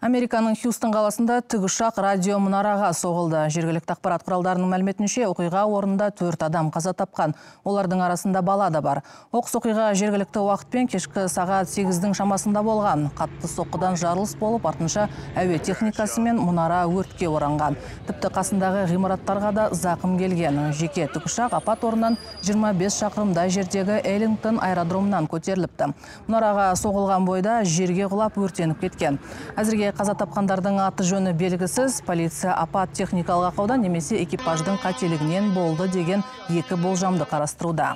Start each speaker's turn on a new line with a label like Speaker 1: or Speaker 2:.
Speaker 1: Американың Хьюстон қаласында тікұшақ радио мұнараға соғылды. Жергілікті ақпарат құралдарының мәліметінше, оқиға орнында 4 адам қаза тапқан. Олардың арасында бала да бар. Оқыс оқиға жергілікті уақытпен кешкі сағат 8-дің шамасында болған. Қатты соққыдан жарылыс болып, артынша әуе техникасы мен мұнара өртке оранған. Тіпті қасындағы ғимараттарға да зақым келген. Жеке тікұшақ апат орнынан 25 шақырымдай жердегі Эллингтон аэродромынан көтеріліпті. Мұнараға соғылған бойда жерге құлап өртеніп кеткен. Әзірге қаза тапқандардың аты жөні белгісіз. Полиция апат техникалық ақауда немесе экипаждың қателігінен болды деген екі болжамды қарастыруда.